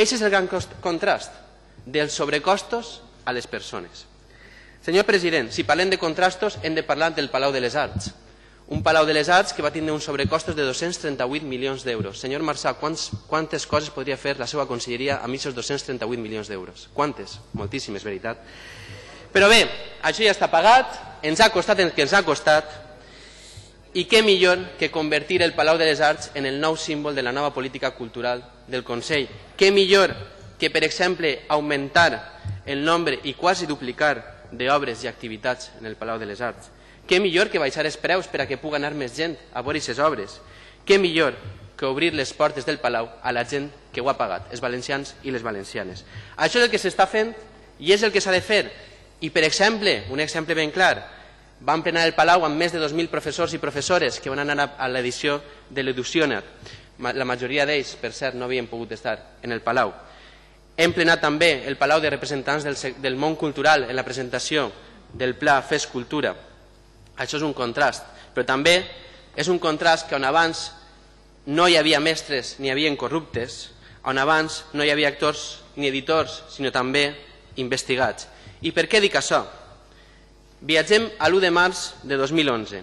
Aquest és el gran contrast dels sobrecostos a les persones. Senyor president, si parlem de contrastos hem de parlar del Palau de les Arts. Un Palau de les Arts que va tindre uns sobrecostos de 238 milions d'euros. Senyor Marsà, quantes coses podria fer la seva conselleria amb aquests 238 milions d'euros? Quantes? Moltíssimes, veritat. Però bé, això ja està pagat, ens ha costat el que ens ha costat, i què millor que convertir el Palau de les Arts en el nou símbol de la nova política cultural del Consell. Què millor que, per exemple, augmentar el nombre i quasi duplicar d'obres i activitats en el Palau de les Arts. Què millor que baixar els preus per a que pugui anar més gent a veure aquestes obres. Què millor que obrir les portes del Palau a la gent que ho ha pagat, els valencians i les valencianes. Això és el que s'està fent i és el que s'ha de fer. I, per exemple, un exemple ben clar, van plenar el Palau amb més de 2.000 professors i professores que van anar a l'edició de l'Educionar. La majoria d'ells, per cert, no havien pogut estar en el Palau. Hem plenat també el Palau de representants del món cultural en la presentació del Pla Fes Cultura. Això és un contrast, però també és un contrast que on abans no hi havia mestres ni hi havia corruptes, on abans no hi havia actors ni editors, sinó també investigats. I per què dic això? Viatgem a l'1 de març de 2011,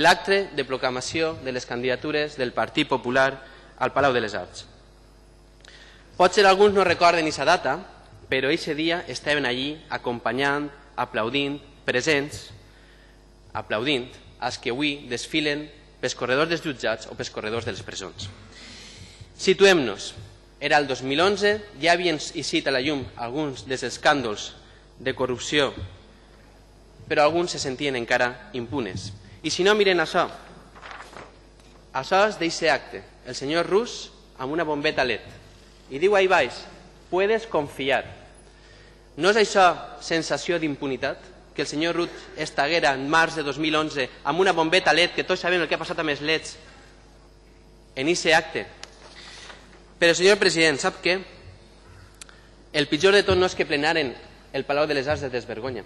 l'acte de proclamació de les candidatures del Partit Popular al Palau de les Arts. Potser alguns no recorden aquesta data, però aquest dia estaven allí acompanyant, aplaudint, presents, aplaudint els que avui desfilen pels corredors dels jutjats o pels corredors de les presons. Situem-nos. Era el 2011, ja havien eixit a la llum alguns dels escàndols de corrupció, però alguns se sentien encara impunes. I si no, miren això. Això és d'aquest acte. El senyor Rus amb una bombeta LED. I diu ahí baix, puedes confiar. No és això sensació d'impunitat? Que el senyor Rull estaguera en març de 2011 amb una bombeta LED, que tots sabem el que ha passat amb els LEDs, en aquest acte. Però, senyor president, sap què? El pitjor de tot no és que plenaren el Palau de les Arts de desvergonya.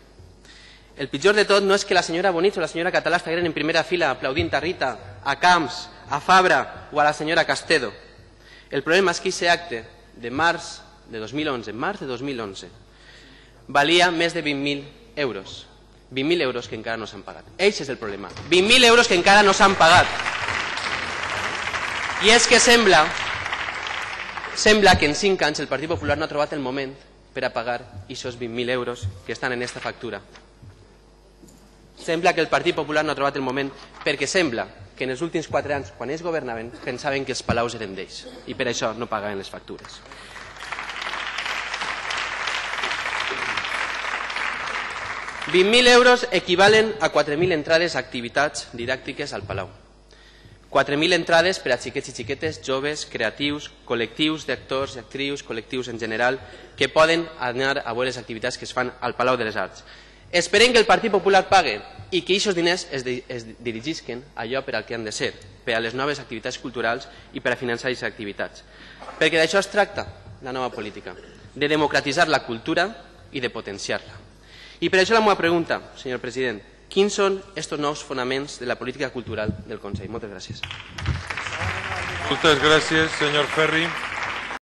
El pitjor de tot no és que la senyora Bonich o la senyora Català estagueren en primera fila aplaudint a Rita, a Camps, a Fabra o a la senyora Castedo. El problema és que aquest acte de març de 2011, valia més de 20.000 euros. 20.000 euros que encara no s'han pagat. Aquest és el problema. 20.000 euros que encara no s'han pagat. I és que sembla que en 5 anys el Partit Popular no ha trobat el moment per a pagar aquests 20.000 euros que estan en aquesta factura. Sembla que el Partit Popular no ha trobat el moment perquè sembla que en els últims 4 anys, quan ells governaven, pensaven que els palaus eren d'ells i per això no pagaven les factures. €20.000 euros equivalen a 4.000 entrades a activitats didàctiques al Palau. 4.000 entrades per a xiquets i xiquetes, joves, creatius, col·lectius d'actors i actrius, col·lectius en general, que poden anar a veure les activitats que es fan al Palau de les Arts. Esperem que el Partit Popular pague i que aquests diners es dirigisquen a allò per al que han de ser, per a les noves activitats culturals i per a finançar aquestes activitats. Perquè d'això es tracta la nova política, de democratitzar la cultura i de potenciar-la. I per això la meva pregunta, senyor president, quins són aquests nous fonaments de la política cultural del Consell? Moltes gràcies. Moltes gràcies, senyor Ferri.